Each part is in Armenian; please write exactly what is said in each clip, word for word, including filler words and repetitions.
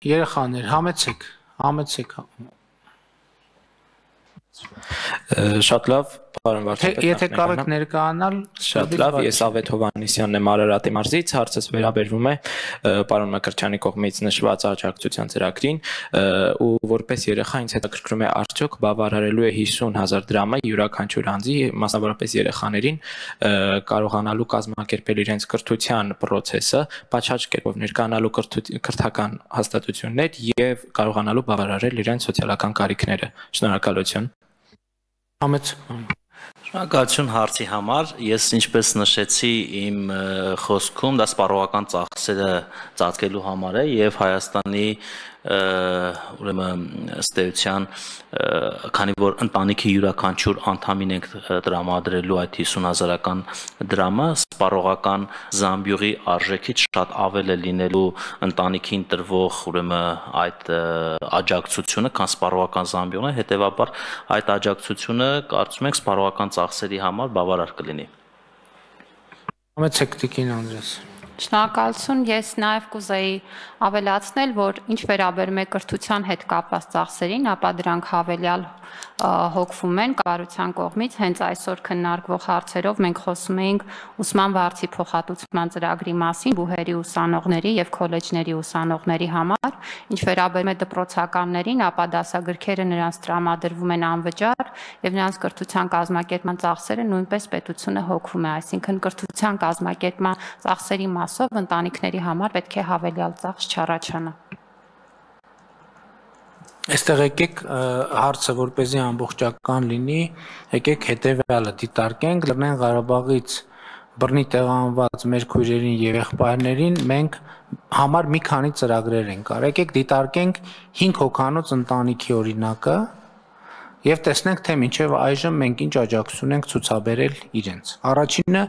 Երեխաներ, համեցեք, համեցեք։ Շատ լավ, պարոն վարչապետ։ Եթե կարող եք ներկայանալ, շատ լավ, ես Ավետ Հովհաննիսյանն եմ Արարատի մարզից, հարցս վերաբերվում է պարոն Մկրտչյանի կողմից նշված աջակցության ծրագրին, ու որպես երեխա ինձ հետաքրքրում է արդյոք բավարարելու է հիսուն հազար դրամը յուրաքանչյուր անձի, մասնավորապես երեխաներին, կարողանալու կազմակերպել իրենց կրթության պրոցեսը, պատշաճ կերպով ներկայանալու կրթական հաստատություններ եւ կարողանալու բավարարել իրենց սոցիալական կարիքները։ Շնորհակալություն։ Շնորհակալություն հարցի համար, ես ինչպես նշեցի իմ խոսքում, դա սպառողական ծախսերը ծածկելու համար է եւ Հայաստանի ուրեմն ըստ էության, քանի որ ընտանիքի յուրաքանչյուր անդամին ենք տրամադրելու այդ հիսուն հազարական դրամը, սպառողական զամբյուղի արժեքից շատ ավել է լինելու ընտանիքին տրվող ուրեմն այդ աջակցությունը, քան սպառողական զամբյուղն է, հետեւաբար այդ աջակցությունը կարծում ենք սպառողական ծախսերի համար բավարար կլինի։ Համեցեք Տիկին Անդրեաս։ Շնորհակալություն, ես նաև կուզեի ավելացնել, որ ինչ վերաբերում է կրթության հետ կապված ծախսերին, ապա դրանք հավելյալ հոգվում են կառավարության կողմից, հենց այսօր քննարկվող հարցերով մենք խոսում էինք ուսման վարձի փոխհատուցման ծրագրի մասին բուհերի ուսանողների եւ քոլեջների ուսանողների համար, ինչ վերաբերում է դպրոցականներին, ապա դասագրքերը նրանց տրամադրվում են անվճար եւ նրանց կրթության կազմակերպման ծախսերը նույնպես պետությունը հոգվում է, այսինքն կրթության կազմակերպման ծախսերի մասով ընտանիքների համար պետք է հավելյալ ծախս չառաջանա։ Այստեղ եկեք հարցը որպեսզի ամբողջական լինի, եկեք հետևյալը դիտարկենք, Լեռնային Ղարաբաղից բռնի տեղանված մեր քույրերին եւ եղբայրներին մենք համար մի քանի ծրագրեր ենք արել, եկեք դիտարկենք հինգ հոգանոց ընտանիքի օրինակը եւ տեսնենք թե մինչեւ այժմ մենք ինչ աջակցություն ենք ցուցաբերել իրենց։ Առաջինը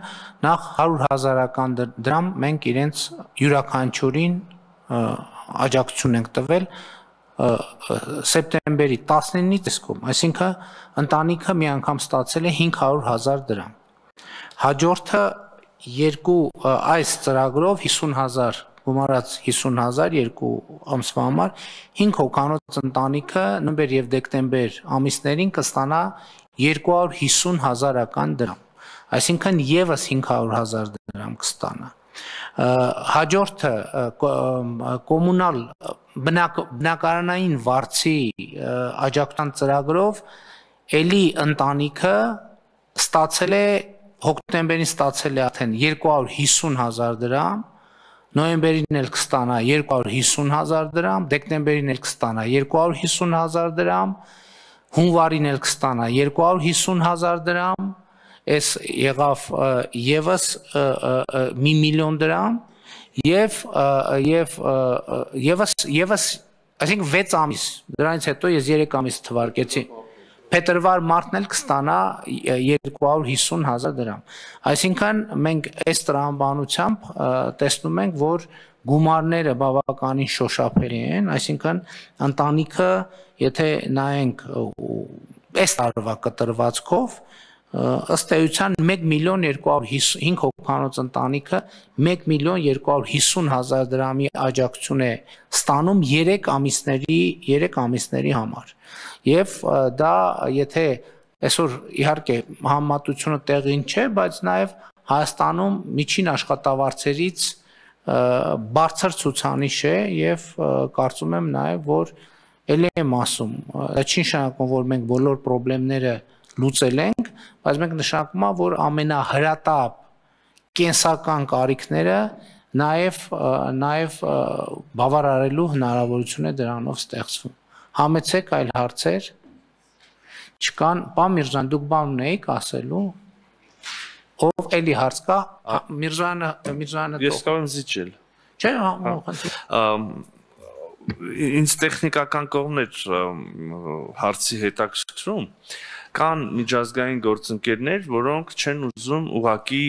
նախ հարյուր հազարական դրամ մենք իրենց յուրաքանչյուրին աջակցություն ենք տվել սեպտեմբերի տասնինից տեսքում, այսինքն ընտանիքը մի անգամ ստացել է հինգ հարյուր հազար դրամ։ Հաջորդը երկու այս ծրագրով հիսուն հազար գումարած հիսուն հազար երկու ամսվա համար հինգ հոգանոց ընտանիքը նոյեմբեր եւ դեկտեմբեր ամիսներին կստանա երկու հարյուր հիսուն հազարական դրամ, այսինքն եւս հինգ հարյուր հազար դրամ կստանա։ Հաջորդը կոմունալ բնակարանային վարձի աջակցության ծրագրով էլի ընտանիքը ստացել է հոկտեմբերին ստացել է արդեն երկու հարյուր հիսուն հազար դրամ, նոյեմբերին էլ կստանա երկու հարյուր հիսուն հազար դրամ, դեկտեմբերին էլ կստանա երկու հարյուր հիսուն հազար դրամ, հունվարին էլ կստանա երկու հարյուր հիսուն հազար դրամ, այս եղավ եւս մի միլիոն դրամ եւ եւ եւս եւս այսինքն վեց ամիս դրանից հետո ես երեք ամիս թվարկեցի փետրվար մարտն էլ կստանա երկու հարյուր հիսուն հազար դրամ, այսինքն մենք այս տրամաբանությամբ տեսնում ենք որ գումարները բավականին շոշափելի են, այսինքն ընտանիքը եթե նայենք այս տարվա կտրվածքով ըստ էության մեկ միլիոն երկու հարյուր հինգ հոգանոց ընտանիքը մեկ միլիոն երկու հարյուր հիսուն հազար դրամի աջակցություն է ստանում երեք ամիսների երեք ամիսների համար եւ դա եթե այսօր իհարկե համեմատությունը տեղին չէ, բայց նաեւ Հայաստանում միջին աշխատավարձերից բարձր ցուցանիշ է եւ կարծում եմ նաեւ որ ելի եմ ասում, դա չի նշանակում որ մենք բոլոր խնդիրները լուծել ենք, բայց մենք նշանակում է, որ ամենահրատապ կենսական կարիքները նաև նաև բավարարելու հնարավորություն է դրանով ստեղծվում։ Համեցեք այլ հարցեր չկան, պարոն Միրզոյան, դուք բան ունեիք ասելու։ Ով էլի հարց կա, Միրզոյանը, Միրզոյանը Ես կարող եմ զիջել։ Չէ, ինձ տեխնիկական կողմն էր հարցի հետաքրքրում։ Կան միջազգային գործընկերներ, որոնք չեն ուզում ուղղակի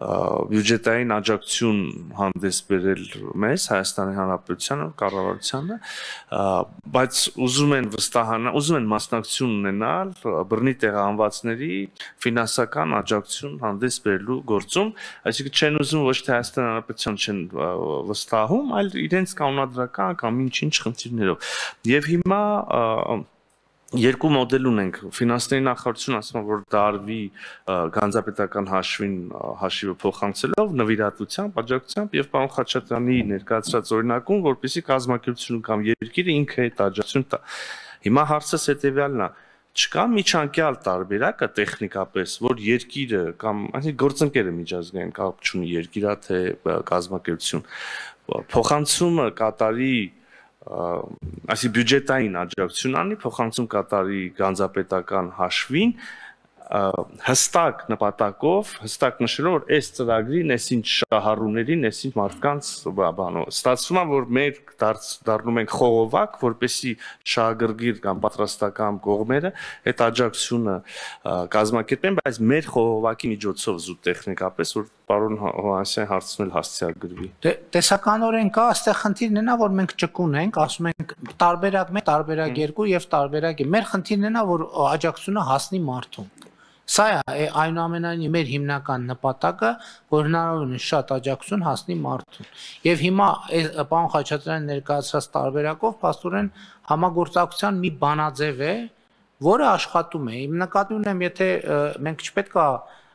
բյուջետային աջակցություն հանդես բերել մեզ Հայաստանի Հանրապետությանը, կառավարությանը, բայց ուզում են վստահանալ, ուզում են մասնակցություն ունենալ բռնի տեղահանվածների ֆինանսական աջակցություն հանդես բերելու գործում, այսինքն չեն ուզում ոչ թե Հայաստանի Հանրապետության չեն վստահում, այլ իրենց կանոնադրական կամ ինչ-ինչ խնդիրներով։ Եվ հիմա երկու մոդել ունենք, ֆինանսների նախարարությունը ասում է, որ դա արվի գանձապետական հաշվին հաշիվը փոխանցելով, նվիրատվությամբ, աջակցությամբ եւ պարոն Խաչատրյանի ներկայացրած օրինակում, որպեսզի կազմակերպությունը կամ երկիրը ինքը այդ աջակցություն տա։ Հիմա հարցը հետեւյալն է, չկա միջանկյալ տարբերակը տեխնիկապես, որ երկիրը կամ այսինքն գործընկերը միջազգային կապ չունի երկիրա թե կազմակերպություն, փոխանցումը կատարի այսի բյուջետային աջակցություն անի, փոխանցում կատարի գանձապետական հաշվին, հստակ նպատակով, հստակ նշելով, որ այս ծրագրին, այսինչ շահառուներին, այսինչ մարդկանց բանո, ստացվում է, որ մեր դառնում ենք խողովակ, որպեսզի շահագրգիռ կամ պատրաստական կողմերը այդ աջակցությունը կազմակերպեն, բայց մեր խողովակի միջոցով զուտ տեխնիկապես, որ պարոն Հովհաննիսյանի հարցն էլ հասցեագրվի։ Տեսականորեն կա, այստեղ խնդիրն է, որ մենք ճկուն ենք, ասում ենք տարբերակ մեկ, տարբերակ երկու եւ տարբերակ։ Մեր խնդիրն է, որ աջակցությունը հասնի մարդուն։ Սա է այնուամենայնիվ մեր հիմնական նպատակը, որ հնարավորինս շատ աջակցություն հասնի մարդուն։ Եվ հիմա պարոն Խաչատրյանի ներկայացրած տարբերակով փաստորեն համագործակցության մի բանաձև է, որը աշխատում է։ Իմ նկատի ունեմ, եթե մենք չպետք է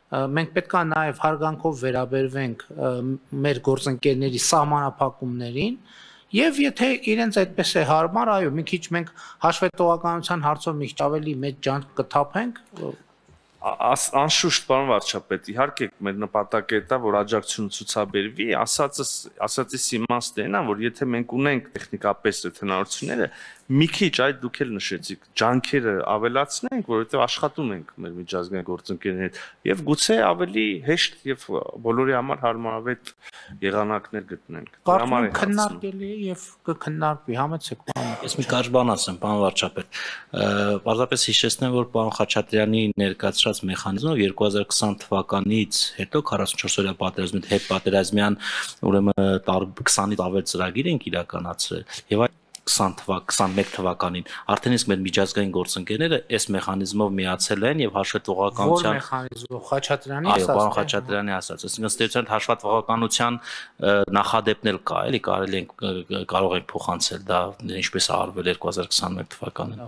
մենք պետք է նաև հարգանքով վերաբերվենք մեր գործընկերների սահմանափակումներին, եւ եթե իրենց այդպես է հարմար, այո, մի քիչ մենք հաշվետվականության հարցով մի քիչ ավելի մեծ ջանք կթափենք։ Անշուշտ, պարոն վարչապետ, իհարկե մեր նպատակը դա, որ աջակցությունը ցուցաբերվի, ասածս ասածից իմաստն է, որ եթե մենք ունենք տեխնիկապես այդ հնարավորությունները, մի քիչ այդ դուք էլ նշեցիք, ջանքերը ավելացնենք, որովհետև աշխատում ենք մեր միջազգային գործընկերների հետ, եւ գուցե ավելի հեշտ եւ բոլորի համար հարմարավետ եղանակներ գտնենք։ Կարծում եմ քննարկելի է եւ կքննարկվի, համեցեք պարոն։ Ես մի կարճ բան ասեմ, պարոն վարչապետ։ Պարզապես հիշեցնեմ, որ պարոն Խաչատրյանի ներկայացրած մեխանիզմով երկու հազար քսան թվականից հետո քառասունչորս օրյա պատերազմից հետ պատերազմյան ուրեմն քսանից ավել ծրագիր ենք իրականացրել եւ քսանմեկ թվականին արդեն իսկ մեր միջազգային գործընկերները այս մեխանիզմով միացել են եւ հաշվետվողականության Որ մեխանիզմով Խաչատրյանի ասած։ Այո, պարոն Խաչատրյանի ասած, այսինքն ստեցության հաշվետվողականության նախադեպն էլ կա, էլի կարելի է կարող ենք փոխանցել դա ինչպես արվել երկու հազար քսանմեկ թվականին։